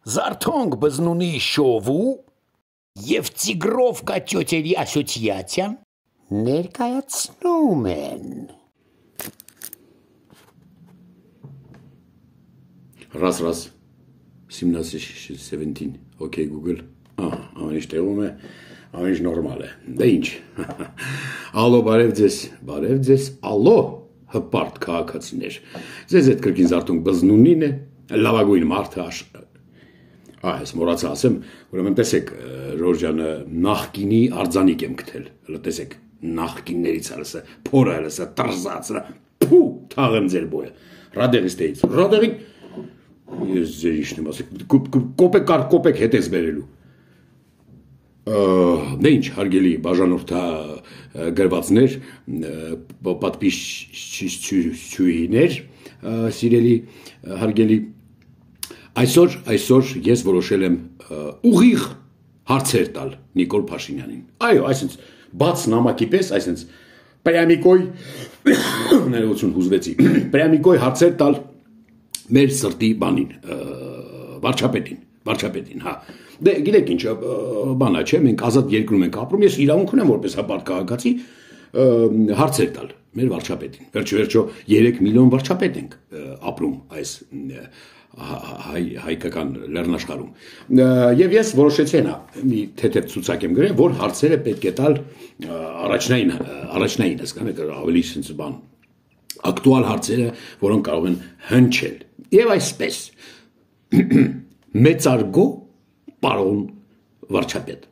Զարթոնք բզնունի շովու և Տիգրովկա տյոտերի ասոցիացիան ներկայացնում են։ Раз, 17, окей, Google. Ամեն ինչ տեղում է, ամեն ինչ նորմալ է։ Դե ինչ։ Ալո, բարև ձեզ, ալո, հպարտ քաղաքացիներ։ Ձեզ այդ կրկին Զարթոնք բզնունին է, լավագույն մարդը Այս մոռացա ասեմ, ուրեմն տեսեք, Ժորժյանը նախկինի արձանիկ եմ գտել։ Հələ տեսեք, նախկիններից հələ փորը հələ տրզած, փու, թաղեմ ձեր բոյը։ Ռադեղիստեից։ Ռադեղին ես ձեր իշն եմ ասել, կոպեկ հետ ես բերելու։ Դե ինչ, հարգելի բաժանորդա գրվածներ, պատպիսչուհիներ, սիրելի հարգելի Այսօր ես որոշել եմ ուղիղ հարցեր տալ Նիկոլ Փաշինյանին։ Այո, այսինքն բաց նամակի պես, այսինքն պրյամիկոյ ներողություն հուզվեցի։ Պրյամիկոյ հարցեր տալ մեր սրտի բանին, վարչապետին, հա։ Դե գիտեք ինչ, բանա չէ, մենք ազատ երկրում ենք ապրում, ես իրավունք ունեմ որպես հպարտ քաղաքացի հարցեր տալ մեր վարչապետին։ Վերջո 3 միլիոն վարչապետ ենք ապրում այս հայկական լեռնաշխարհում եւ ես որոշեցի նա մի թեթև ցուցակ եմ գրել որ հարցերը պետք է տալ առաջնային հասկանեք ավելի sense բան ակտուալ հարցերը որոնք կարող են հնչել եւ այսպես մեծարգո պարոն վարչապետ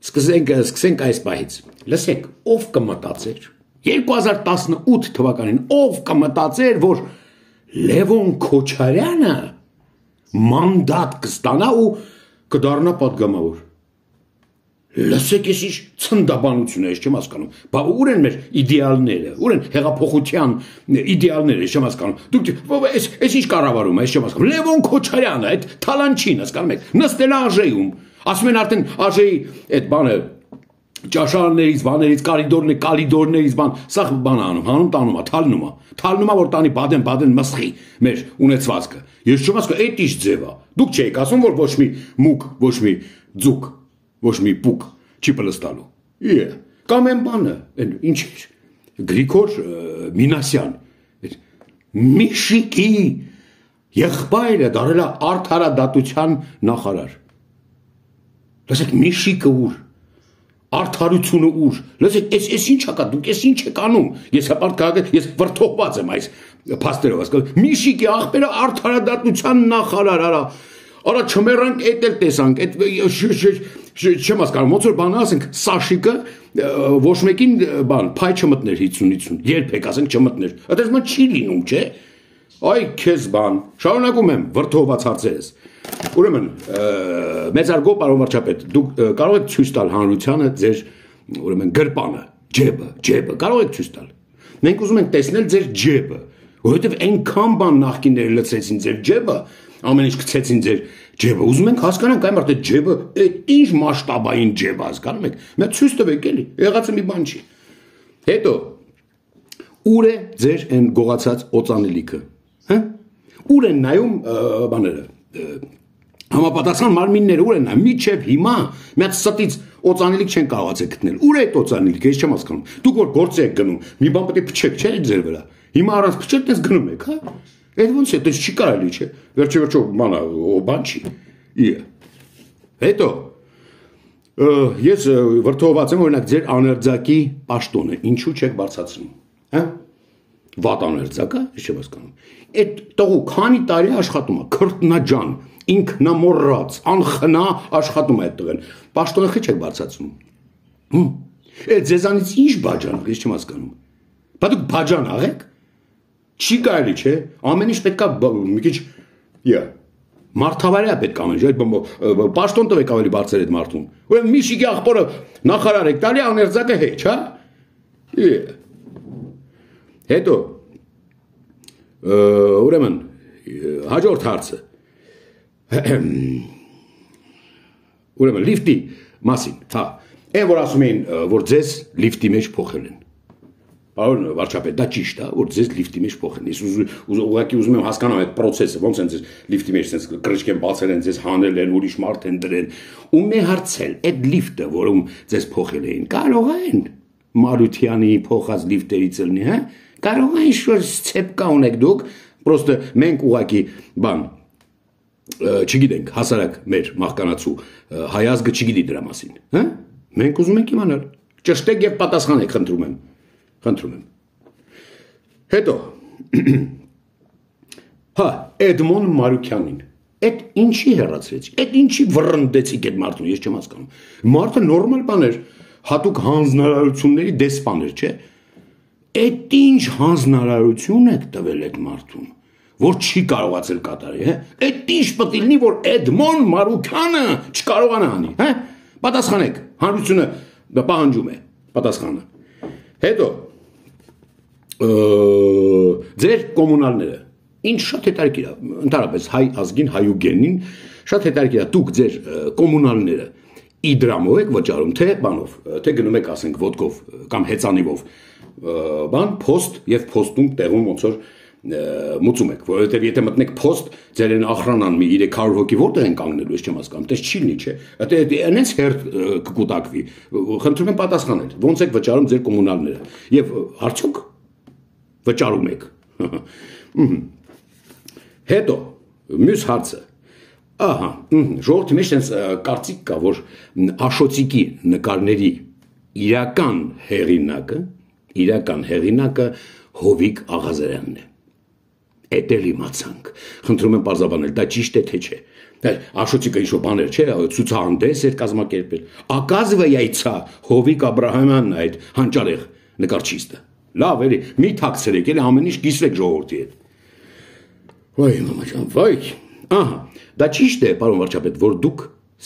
սկսենք այս պահից լսեք ով կմտածեր 2018 թվականին ով կմտածեր որ Լևոն Քոչարյանը մանդատ կստանա ու կդառնա падգամավոր։ Լսեք ես ինչ ցնդաբանություն է, ես չեմ հասկանում։ Բա ուր են մեր իդեալները, ուր են հեղափոխության իդեալները, ես չեմ հասկանում։ Դուք այս ինչ կառավարում է, ես չեմ հասկանում։ Լևոն Քոչարյանը, այդ թալանչին, հասկանում եք, նստել է ԱԺ-ում։ Ասում են արդեն ԱԺ-ի այդ բանը ճաշարաններից, բաներից, կալիդորներից բան, սա բան անում, տանում է, թալնում է, որ տանի բադեն մսխի մեր ունեցվածքը։ Ես չեմ ասում, այդ ինչ ձև է։ Դուք չեք ասում, որ ոչ մի մուկ, ոչ մի ձուկ, ոչ մի պուկ չի պլստալու։ Կամ այն բանը, ինչ էր, Գրիգոր Մինասյան, Միշիկի եղբայրը դարել է արդարադատության նախարար։ Լսեք, Միշիկը ուր Արդարությունը ուր, լսեք, ես ինչ ակա, դուք ես ինչ եք անում, ես հպարտ քաղաք, ես վրդովված եմ այս փաստերով, ասկալ, Միշիկի աղբերը արդարադատության նախարար, արա չմերանք էդ էլ տեսանք, չեմ ասկալ, ոնց որ բանը ասենք, Սաշիկը ոչ մեկին բան, փայ չմտներ 50-50, երբեք ասենք չմտներ, այդպես ման չի լինում, չէ, այ քեզ բան, շարունակում եմ, վրդովված հարցերս, ուրեմն, մեծարգո պարոն վարչապետ, դուք կարող եք ցույց տալ հանրությանը ձեր ուրեմն գրպանը, ջեբը, կարող եք ցույց տալ։ Մենք ուզում ենք տեսնել ձեր ջեբը, որովհետև այնքան բան նախկինները լցրեցին ձեր ջեբը, ամեն ինչ գցեցին ձեր ջեբը։ Ուզում ենք հասկանանք այ մարդ այդ ջեբը, այդ ինչ մասշտաբային ջեբ է, հասկանում եք։ Մենք ցույց տվեք էլի, եղածը մի բան չի։ Հետո ուր է ձեր այն գողացած օծանելիքը, հա? Ուր են նայում բաները Համապատասխան մարմինները ուր են նա միջև հիմա մի հատ ստից օծանելիք չեն կարողացել գտնել ուր է այդ օծանելիքը ես չեմ հասկանում դուք որ գործ եք գնում մի բան պետք է փչեք չէ ձեր վրա հիմա առանց փչել դες գնում եք հա այդ ոնց է դες չի կարելի չէ վերջո բանա բան չի հետո ես վրդովված եմ օրինակ ձեր աներձակի պաշտոնը ինչու չեք բարձրացնում հա վատ աներձակա ես չեմ հասկանում այդ տղու քանի տարի աշխատում է քրտնաջան ինքնամոռաց, անխնա աշխատում է այդ տղեն, պաշտոնը խիչ եք բարձրացնում, ձեզանից ինչ բաջան, ես չեմ հասկանում, բա դուք բաջան աղեք, չի կարելի չէ, ամեն ինչ պետք է մի քիչ, մարդավարյա պետք ամեն ինչ, պաշտոն տվեք ավելի բարձր այդ մարդուն, ուրեմն Միշիկի աղբորը նախարար եք տալի, աներձակը հեչ, հա, հետո, ուրեմն, հաջորդ հարցը, ուրեմն լիֆտի մասին, հա, այն որ ասում էին, որ ձեզ լիֆտի մեջ փոխել են, Պարոն վարչապետ, դա ճիշտ է, որ ձեզ լիֆտի մեջ փոխեն։ Ես ուղղակի ուզում եմ հասկանալ այդ process-ը, ոնց են ձեզ լիֆտի մեջ sense կրճկեն բացել են, ձեզ հանել են, ուրիշ մարդ են դրել։ Ու մի հարցել, այդ լիֆտը, որում ձեզ փոխել էին, կարող են Մարությանի փոխած լիֆտերից ելնի, հա։ Կարող է ինչ-որ ցեպկա ունեք դուք, պրոստը մենք ուղղակի բան չգիտենք, հասարակ մեր մահկանացու հայազգը չգիտի դրա մասին, հա։ Մենք ուզում ենք իմանալ։ Ճշտեք եւ պատասխանեք, խնդրում եմ։ Հետո հա, Էդմոն Մարուքյանին այդ ինչի հեռացրեց, այդ ինչի վռնդեցիք այդ մարդուն, ես չեմ հասկանում։ Մարդը նորմալ բան էր, հատուկ հանձնարարությունների դեսպան էր, չէ։ Այդ ինչ հանձնարարություն եք տվել այդ մարդուն, որ չի կարողացել կատարել, հա։ Այդ ինչ պետք է լինի, որ Էդմոն Մարուքյանը չկարողանա անի, հա։ Պատասխանեք, հանրությունը պահանջում է պատասխանը։ Հետո ձեր կոմունալները ինչ շատ հետաքրքիր է, ընդհանրապես հայ ազգին, հայուգենին շատ հետաքրքիր է, դուք ձեր կոմունալները իդրամով եք վճարում, թե բանով, թե գնում եք, ասենք, ոդկով կամ հեծանիվով, բան, փոստ եւ փոստում տեղում ոնց որ մուծում եք, որովհետեւ եթե մտնեք փոստ, ձեր են ախրանան մի 300 հոգի որտեղ են կանգնելու, ես չեմ հասկանում, դες չի լինի, չէ։ Դա այնպես հերթ կկուտակվի։ Խնդրում եմ պատասխանել, ոնց եք վճարում ձեր կոմունալները եւ արդյոք վճարում եք։ Հետո մյուս հարցը։ Ահա, ժողովրդի մեջ այնպես կարծիք կա, որ Աշոտիկի նկարների իրական հեղինակը Հովիկ Աղազարյանն է։ Էդ էլ իմացանք։ Խնդրում եմ պարզաբանել, դա ճիշտ է թե չէ։ Աշոտիկը ինչ-որ բաներ չէ, ցուցահանդես էր կազմակերպել։ Оказывается, Հովիկ Աբրահամյանն այդ հանճարեղ նկարչիստը։ Լավ, էլի, մի թաքցրեք, էլի ամեն ինչ կիսվեք ժողովրդի հետ։ Վայ, մամա ջան, վայ։ Ահա, դա ճիշտ է, պարոն վարչապետ, որ դուք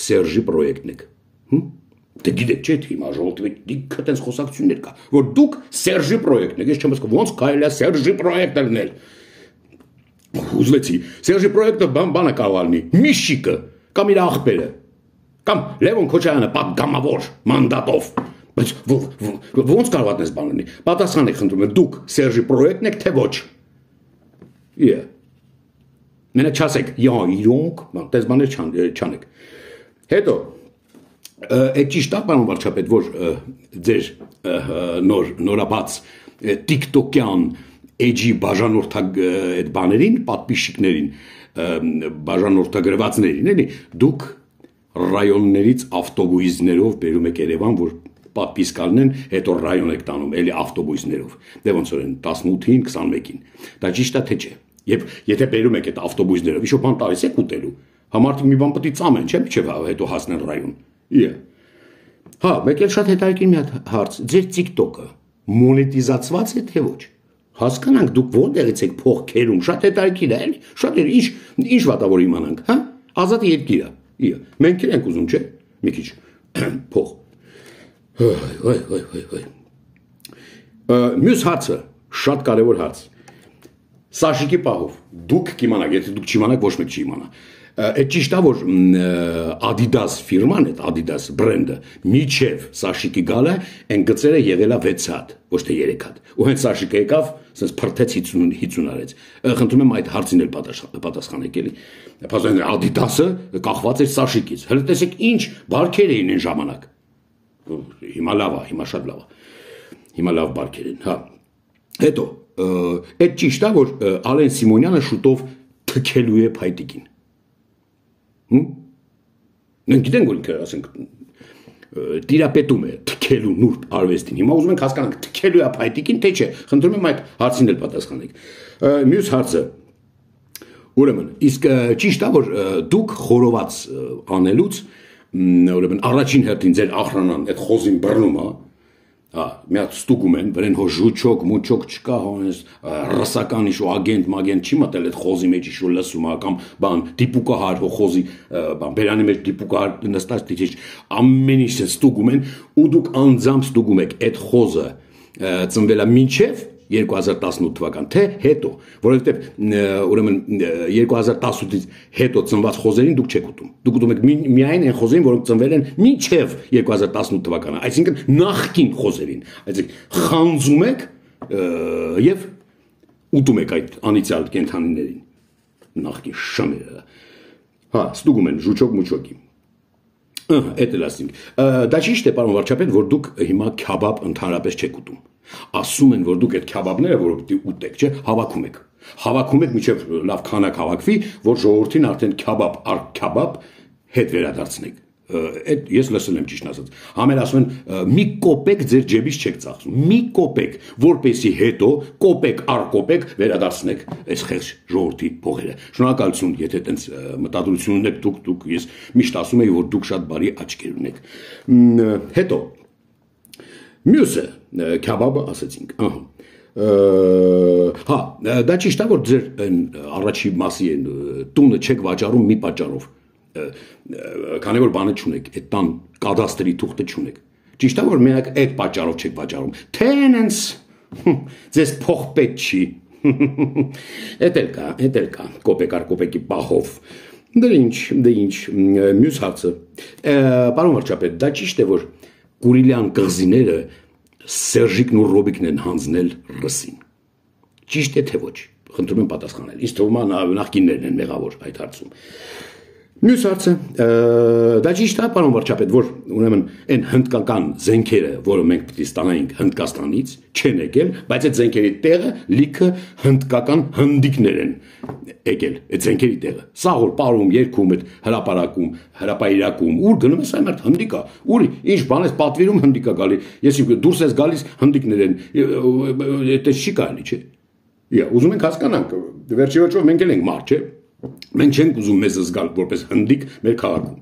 Սերժի պրոյեկտն եք։ Դե գիտեք, չէ՞, հիմա ժողովրդի դիք այդպես խոսակցություններ կա, որ դուք Սերժի պրոյեկտն եք, ես չեմ հասկանում, ոնց կարելի է Սերժի պրոյեկտը լինել։ Ուզվեցի, Սերժի պրոյեկտը բանը կարող լինի, Միշիկը, կամ իր աղբերը, կամ Լևոն Քոչարյանը պատգամավոր մանդատով։ Բայց ոնց կարող այդպես բան լինի։ Պատասխանեք, խնդրում եմ, դուք Սերժի պրոյեկտն եք, թե ոչ։ Իե։ Մենակ չասեք, իրոնք, այդպես բաներ չանեք։ Հետո այդ ճիշտ է, պարոն վարչապետ, որ ձեր նորաբաց TikTok-յան էջի բաժանորդակ այդ բաներին, պատպիշիկներին, բաժանորդագրվածներին, էլի, դուք ռայոններից ավտոբուսներով բերում եք Երևան, որ պատպիսկ ալնեն, հետո ռայոն եք տանում, էլի ավտոբուսներով։ Դե ոնց որ են 18-ին, 21-ին։ Դա ճիշտ է թե չէ։ Եվ եթե բերում եք այդ ավտոբուսներով, ինչ-որ բան տալիս եք ուտելու, համարդիկ մի բան պետք է ծամեն, չէ՞, մինչև հետո հասնեն ռայոն։ Իե։ Հա, մեկ էլ շատ հետաքրքիր մի հատ հարց, ձեր TikTok-ը մոնետիզացված է թե ոչ։ Հասկանանք դուք որտեղից եք փող քերում, շատ հետաքրքիր է, էլի, շատ է, ինչ վատավոր իմանանք, հա։ Ազատ երկիր է։ Իե։ Մենք ենք ուզում, չէ՞, մի քիչ փող։ Մյուս հարցը, շատ կարևոր հարց։ Սաշիկի պահով, դուք կիմանաք, եթե դուք չիմանաք, ոչ մեկ չի իմանա։ Այդ ճիշտ է, որ Adidas ֆիրման, այդ Adidas բրենդը, միջև Սաշիկի գալը, այն գծերը եղել է 6 հատ, ոչ թե 3 հատ։ Ու հենց Սաշիկը եկավ, ասես փրթեց 50 արեց։ Խնդրում եմ այդ հարցին էլ պատասխանեք, էլի։ Փաստորեն Adidas-ը կախված էր Սաշիկից։ Հələ տեսեք ինչ բարքեր էին այն ժամանակ։ Հիմա լավ է, հիմա շատ լավ է։ Հիմա լավ բարքեր են, հա։ Հետո այդ ճիշտ է, որ Ալեն Սիմոնյանը շուտով թքելու է փայտիկին։ Մենք գիտենք, որ ինքը, ասենք, տիրապետում է թքելու նուրբ արվեստին։ Հիմա ուզում ենք հասկանանք, թքելու է փայտիկին, թե չէ։ Խնդրում եմ այդ հարցին էլ պատասխանեք։ Մյուս հարցը, ուրեմն, իսկ ճիշտ է, որ դուք խորոված անելուց, ուրեմն, առաջին հերթին ձեր ախրանան այդ խոզին բռնում է, մի հատ ստուգում են, վրեն հո ժուչոկ, մուչոկ չկա, հոնես ռասական ինչ-որ ագենտ չի մտել այդ խոզի մեջ ինչ-որ լսում է, կամ բան, դիպուկահար, հո խոզի բերանի մեջ դիպուկահար նստած դիչ, ամեն ինչ ստուգում են, ու դուք անձամբ ստուգում եք այդ խոզը ծնվել է մինչև 2018 թվական, թե հետո, որովհետև ուրեմն 2018-ից հետո ծնված խոզերին դուք չեք ուտում։ Դուք ուտում եք միայն այն խոզերին, որոնք ծնվել են մինչև 2018 թվականը, այսինքն նախկին խոզերին։ Այսինքն խանձում եք եւ ուտում եք այդ անիցիալ կենթանիներին նախկին շամերը հա ստուգում են ժուչոկ մուչոկի Էդ էլ ասենք դա ճիշտ է պարոն վարչապետ որ դուք հիմա քյաբաբ ընդհանրապես չեք ուտում ասում են որ դուք այդ քյաբաբները որ պիտի ուտեք չէ հավաքում եք մինչև լավ քանակ հավաքվի որ ժողովրդին արդեն քյաբաբ առ քյաբաբ հետ վերադարձնեք Այդ ես լսել եմ ճիշտ ասած համեր ասում են մի կոպեկ ձեր ջեբից չեք ծախսում մի կոպեկ որպեսի հետո կոպեկ առ կոպեկ վերադարձնեք այս խեղճ ժողովրդի փողերը շնորհակալություն եթե տենց մտադրություն ունեք դուք ես միշտ ասում եի որ դուք շատ բարի աչքեր ունեք հետո մյուսը քյաբաբը ասեցինք հա դա ճիշտ է որ ձեր առաջի մասի են տունը չեք վաճառում մի պատճառով Քանի որ բանը չունեք, այդ տան կադաստրի թուղթը չունեք։ Ճիշտ է որ մենակ այդ պատճառով չեք վաճառում։ Tenants ձեզ փող պետք չի։ Էդ էլ կա, կոպեկ առ կոպեկի պահով։ Դե ինչ, մյուս հարցը։ Պարոն վարչապետ, դա ճիշտ է որ Կուրիլյան կղզիները Սերժիկն ու Ռոբիկն են հանձնել ռսին։ Ճիշտ է թե ոչ։ Խնդրում եմ պատասխանել։ Իսկ թվում է նախկիններն են մեղավոր այդ հարցում։ Մյուս հարցը դա ճիշտ է պարոն վարչապետ որ ուրեմն այն հնդկական զենքերը որը մենք պիտի ստանայինք Հնդկաստանից չեն եկել բայց այդ զենքերի տեղը լիքը հնդկական հնդիկներ են եկել այդ զենքերի տեղը սաղ որ պարում երկում այդ հրապարակում ուր գնում ես այմարտ հնդիկա ուր ինչ բան ես պատվիրում հնդիկա գալի ես դուրս ես գալիս հնդիկներ են դա չի կարելի չէ ուզում ենք հասկանանք վերջի վերջով մենք էլ ենք մարդ չէ Մենք չենք ուզում մեզ զգալ որպես հնդիկ մեր քաղաքում։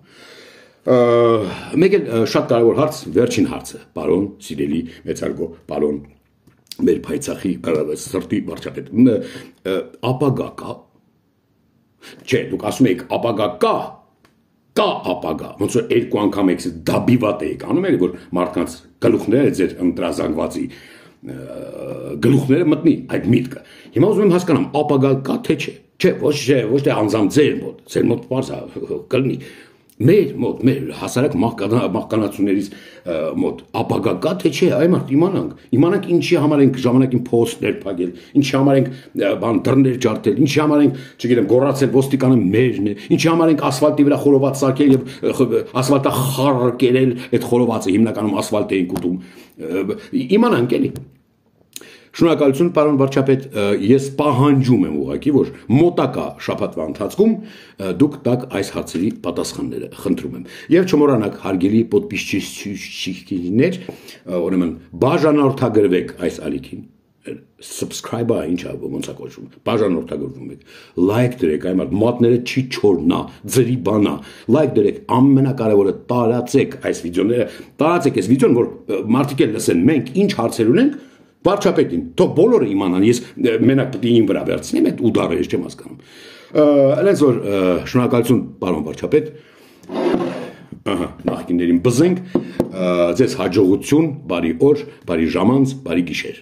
Մեկ էլ շատ կարևոր հարց, վերջին հարցը, պարոն սիրելի մեծարգո, պարոն մեր փայծախի սրտի վարչապետ։ Ապագա կա։ Չէ, դուք ասում եք ապագա կա ապագա։ Ոնց որ երկու անգամ եք դաբիվատ եք անում եք որ մարդկանց գլուխները ձեր ընտրազանգվածի գլուխները մտնի այդ միտքը։ Հիմա ուզում եմ հասկանամ, ապագա կա թե չէ։ Չէ, ոչ թե անձամ ձեր մոտ պարզ կլնի, մեր մոտ, մեր հասարակ մահկանացուներից մոտ, ապագա կա թե չէ, այ մարդ իմանանք ինչի համար ենք ժամանակին փոստներ փակել, ինչի համար ենք դռներ ջարդել, ինչի համար ենք, չգիտեմ, գոռացել ոստիկանը մերն է, ինչի համար ենք ասֆալտի վրա խորոված սարքել եւ ասֆալտախառը կերել, այդ խորովածը հիմնականում ասֆալտ էին կուտում, իմանանք էլի Շնորհակալություն պարոն վարչապետ, ես պահանջում եմ ուղղակի, որ մոտակա շաբաթվա ընթացքում դուք տաք այս հարցերի պատասխանները, խնդրում եմ։ Եվ չմոռանաք հարգելի podpисчики-ներ, ուրեմն բաժանորդագրվեք այս ալիքին, subscribe-ը ինչա ոնց է կոչվում, բաժանորդագրվում եք, like դրեք, այ մատները չի չորնա, ձրի բանա, like դրեք, ամենակարևորը տարածեք այս վիդեոները, տարածեք այս վիդեոն, որ մարդիկ էլ լսեն, մենք ինչ հարցեր ունենք Վարչապետին, թող բոլորը իմանան, ես մենակ պիտի իմ վրա վերցնեմ այդ ուդարը, ես չեմ հասկանում։ Այնպես որ շնորհակալություն պարոն վարչապետ, նախկիններին բզենք, ձեզ հաջողություն, բարի օր, բարի ժամանց, բարի գիշեր։